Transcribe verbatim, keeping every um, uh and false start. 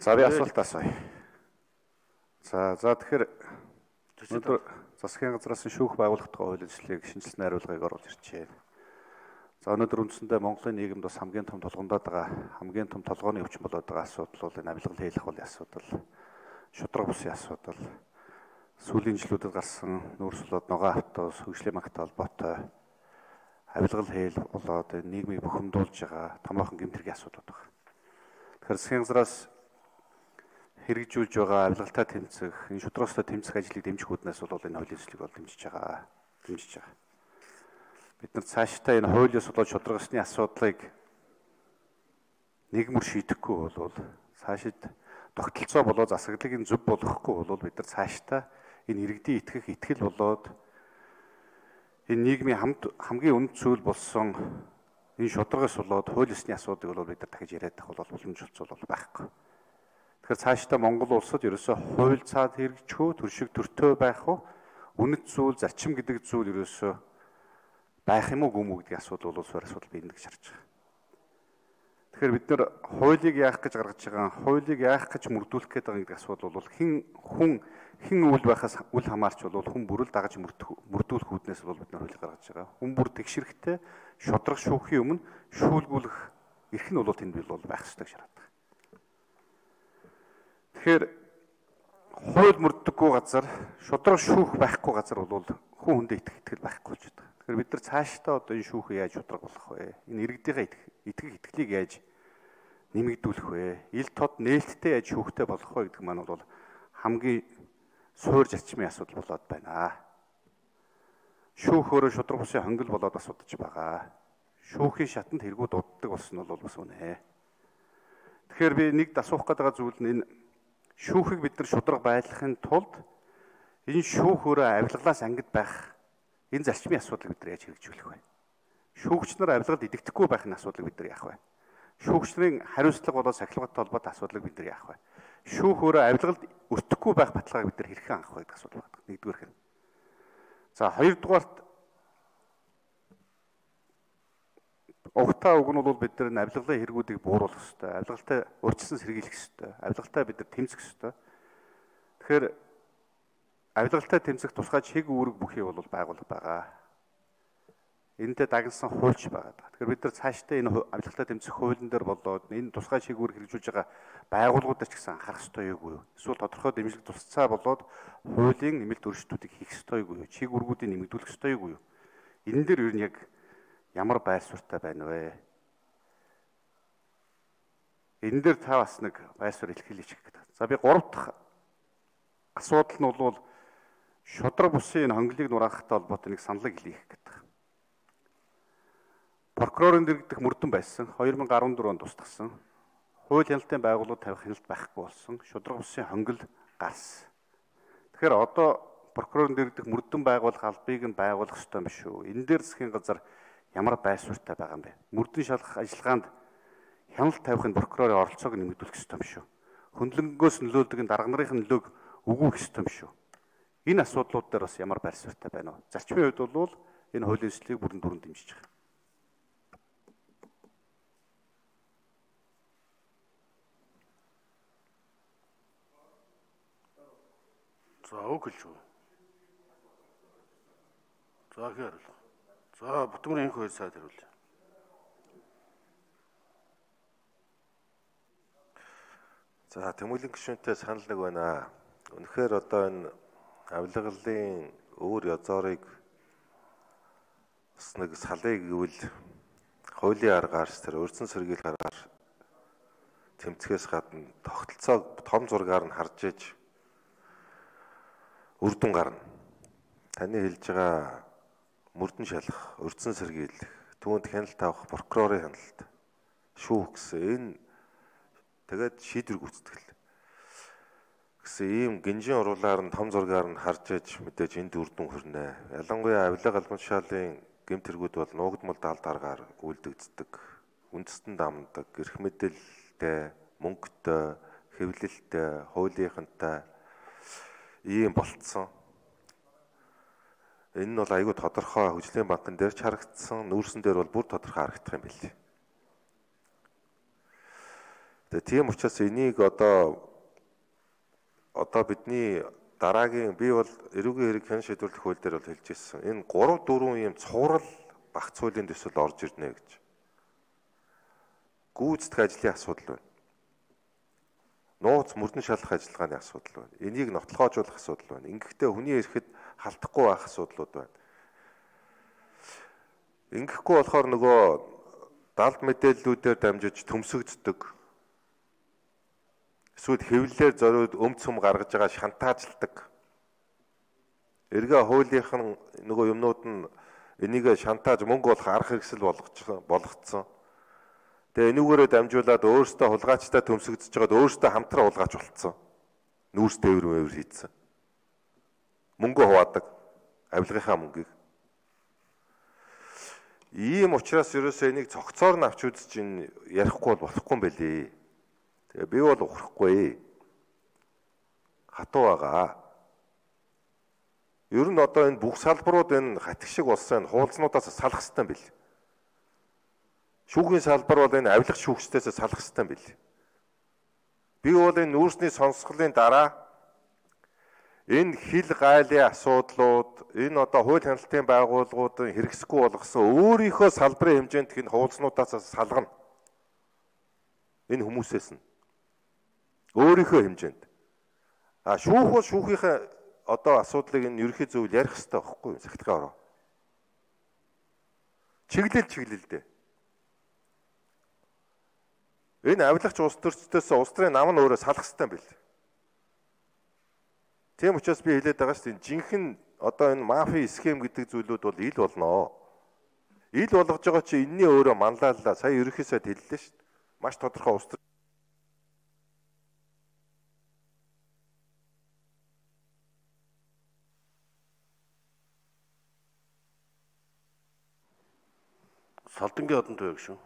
За би асуулт асууя. За за тэгэхээр өнөөдөр засгийн газраас нь шүүх байгуулах тухай хууль эрхлэлийг шинжилсэн хариулгыг оруулж ирж байна. За өнөөдөр үндсэндээ Монголын нийгэмд бас хамгийн том толгондоод байгаа, хамгийн том толгойн өвчин болоод байгаа асуудал бол энэ авилгал хийх хуулийн асуудал, шудраг бусын асуудал, сүүлийн жилүүдэд гарсан нүүрсулоод ногоо автобус, хөгжлийн магтай холбоотой авилгал хийл болоод нийгмийг бухимдуулж байгаа томоохон гэмтэргийн асуудал байна. Тэгэхээр засгийн газраас хэрэгжүүлж байгаа авилгалтай тэмцэх, энэ шудрагстай тэмцэх ажлыг дэмжих үүднээс бол энэ хуулийн төслийг бол дэмжиж байгаа, дэмжиж байгаа. Бид нар цаашдаа энэ хуулиас болоод шудрагсны асуудлыг нийгмээр шийдэхгүй бол цаашид тогтолцоо болоод засаглалыг нь зөв болгохгүй бол бид нар цаашдаа энэ иргэдийн итгэх итгэл болоод энэ нийгмийн хамт хамгийн үнэт зүйл болсон энэ шудрагаас болоод хууль ёсны асуудыг бол бид нар дахиж яриад байх бол боломжтой бол байхгүй. Тэгэхээр цаашдаа Монгол улсад ерөөсөө хууль цаад хэрэгжих үү, төршиг төртөө байх уу, үнэт зүйл, зарчим гэдэг зүйл ерөөсөө байх юм уу гүм үү гэдэг асуудал бол суурь асуудал бий гэж харж байгаа. Тэгэхээр бид нар хуулийг яах гэж гаргаж байгаа, хуулийг яах гэж мөрдүүлэх гээд байгаа гэдэг асуудал бол хэн хүн хэн үйл байхаас үл хамаарч бол хүн бүрэл дагаж мөрдүүлэх үүднээс бол бид нар хуулийг гаргаж байгаа. Хүн бүр тэгшрэхтэй шудраг шүүхийн өмнө шүүлгүүлэх эрх нь бол тэнд бий бол байх ёстой гэж хараад байгаа. Тэгэхээр хууль мөрддөггүй газар, шудраг шүүх байхгүй газар бол хүн хүндээ итгэх итгэл байхгүй болж байгаа. Тэгэхээр бид нар цаашдаа одоо энэ шүүхийг яаж шудраг болгох вэ? Энэ иргэдийнхээ итгэх итгэлийг яаж нэмэгдүүлэх вэ? Ил тод нээлттэй яаж шүүхтэй болох вэ гэдэг маань бол хамгийн суур зарчмын асуудал болоод байна. Шүүх өөрөө шудраг бусын хонгил болоод асуудаж байгаа. Шүүхийн шатанд хэрэгүүд дууддаг болсон нь бол бас үнэ. Тэгэхээр би нэгд асуух гэдэг зүйл нь энэ шүүхийг бид нар шудраг байлгахын тулд энэ шүүх өөрөө авилгалаас ангид байх энэ зарчмын асуудлыг бид нар яаж хэрэгжүүлэх вэ? Шүүгч нар авилгалд идэгдэхгүй байх энэ асуудлыг бид нар яах вэ? Шүүгчнэрийн хариуцлага болоод сахилгатай холбоотой асуудлыг бид нар яах вэ? Шүүх өөрөө авилгалд өртөхгүй байх баталгааг бид нар хэрхэн анх вэ гэдэг асуудал байна. Нэгдүгээр хэн. За хоёрдугаарт угтаа үг нь бол бид нар авилгалын хэрэгүүдийг бууруулах ёстой. Авилгалтай урьдчилан сэргийлэх ёстой. Авилгалтай бид нар тэмцэх ёстой. Тэгэхээр авилгалтай тэмцэх тусгай чиг үүрэг бүхий бол байгуулга байгаа. Энэтэй дагнасан хуульч байгаа. Тэгэхээр бид нар цаашдаа энэ авилгалтай тэмцэх хуулийн дээр болоод энэ тусгай чиг үүрэг хэрэгжүүлж байгаа байгууллагуудаар ч гэсэн анхаарах ёстой юу? Эсвэл тодорхой дэмжлэг тусцаа болоод хуулийн нэмэлт өөрчлөлтүүдийг хийх ёстой юу? Чиг үүргүүдийг нэмэгдүүлэх ёстой юу? Энэ дээр ер нь яг ямар байр суурьтай байна вэ? Энэ дээр та бас нэг байр суурь илэрхийлж гэх гэдэг. За би гурав дахь асуудал нь бол шудраг бусын хонглыг нураахтай холбоотой нэг саналыг хэлье гэдэг. Прокурорын дэргэдэх мөрдөн байсан хоёр мянга арван дөрөв онд тусдагсан. Хууль хяналтын байгууллага тавих хяналт байхгүй болсон. Шудраг бусын хонгил гарсан. Тэгэхээр одоо прокурорын дэргэдэх мөрдөн байгуулах албыг нь байгуулах ёстой юм шүү. Энэ дээр засгийн газар ямар байр суурьтай байгаа юм бэ? Мөрдөн шалгах ажиллагаанд хяналт тавихын прокурорын оролцоог нэмэгдүүлэх ёстой юм шүү. Хөндлөнгөөс нөлөөлдөг дарга нарын нөлөөг өгөх ёстой юм шүү. Энэ асуудлууд дээр бас ямар байр суурьтай байна вэ? Зарчмын хувьд бол энэ хуулийн төслийг бүрэн дүрэн дэмжиж байгаа. За үг хэлж үү. За хэрэл. За Бүтгүрийн энх хоёр сайд хариулъя. За Тэмүүлэн гишүүнтэй санал нэг байна. Үнэхээр одоо энэ авилгалын өөр язорыг бас нэг салыг гэвэл хуулийн аргаар тэр өрцөн сэргийлэх аргаар тэмцэхээс гадна тогтолцоог том зургаар нь харж иж үр дүн гарна. Таны хэлж байгаа мөрдөн шалах, өрцөн сэргийлэх, түүнд хяналт авах, прокурорын хяналт, шүүх гэсэн энэ тэгээд шийдвэр гүйцэтгэл гэсэн ийм гинжин уруулаар нь том зургаар нь харж иж мэдээж энд үр дүн хүрнэ. Ялангуяа авилга албан тушаалын гэмт хэрэгүүд бол нуугдмал даалд аргаар үйлдэгддэг, үндэстэн дамдаг, эрх мэдэлтэй, мөнгөтэй, хэвлэлтэй, хуулийнхантай ийм болцсон. Энэ нь бол айгүй тодорхой хөгжлийн банкн дээр ч харагдсан, нүүрсэн дээр бол бүр тодорхой харагдах юм билээ. Тэгээ тийм учраас энийг одоо одоо бидний дараагийн би бол эрүүгийн хэрэг хэн шийдвэрлэх хууль дээр бол хэлж ирсэн. Энэ гурав дөрвөн юм цуврал багц хуулийн төсөл орж ирнэ гэж. Гүйцэтгэх ажлын асуудал байна. Нууц мөрдөн шалгах ажиллагааны асуудал байна. Энийг нотлохоожуулах асуудал байна. Ингэхдээ хүний эрэхэд халдахгүй байх асуудлууд байна. Ингэхгүй болохоор нөгөө далд мэдээллүүдээр дамжиж төмсөгддөг. Эсвэл хэвлэлээр зориуд өмц хүм гаргаж байгаа шантаажладаг. Эргээ хуулийнхан нөгөө юмнууд нь энийг шантааж мөнгө олох арга хэрэгсэл болгоцсон. Тэгээ энүүгээрээ дамжуулаад өөрөөсөө хулгайчтай төмсөгдөж байгаад өөрөөсөө хамтран хулгайч болцсон. Нүүрс тээвэр мээвэр хийцэн. Мөнгө хуваадаг. Авилгынхаа мөнгийг. Ийм учраас ерөөсөө энийг цогцоор нь авч үзэж ин ярихгүй бол болохгүй юм байлээ. Тэгээ би бол ухрахгүй. Хатуу байгаа. Ер нь одоо энэ бүх салбарууд энэ хатиг шиг болсон хуулзнуудаас салах хэрэгтэй юм бэл. Шүүхийн салбар бол энэ авилах шүүгчдээс салах хэрэгтэй юм бэл. Би бол энэ нүүрсний сонсголын дараа энэ хил гайлын асуудлууд, энэ одоо хууль хяналтын байгууллагуудын хэрэгсэхгүй болгосон өөрийнхөө салбарын хэмжээнд энэ хуулзнуудаас салгана. Энэ хүмүүсээс нь өөрийнхөө хэмжээнд. А шүүх бол шүүхийнхээ одоо асуудлыг энэ ерөнхий зөвлөл ярих хэрэгтэй байхгүй юу? Сахилгын ороо. Чиглэл чиглэлдээ. Энэ авилагч улс төрчдөөс улс төрийн нам нь өөрөө салах хэрэгтэй юм бэл. Тийм учраас би хэлээд байгаа шүү дээ. Жинхэнэ одоо энэ мафи схем гэдэг зүйлүүд бол ил болно. Ил болгож байгаа чи энэний өөрөө манлайлаа. Сая ерөнхий сайд хэллээ шүү дээ. Маш тодорхой улс төр Салдангийн одон туяг шүү.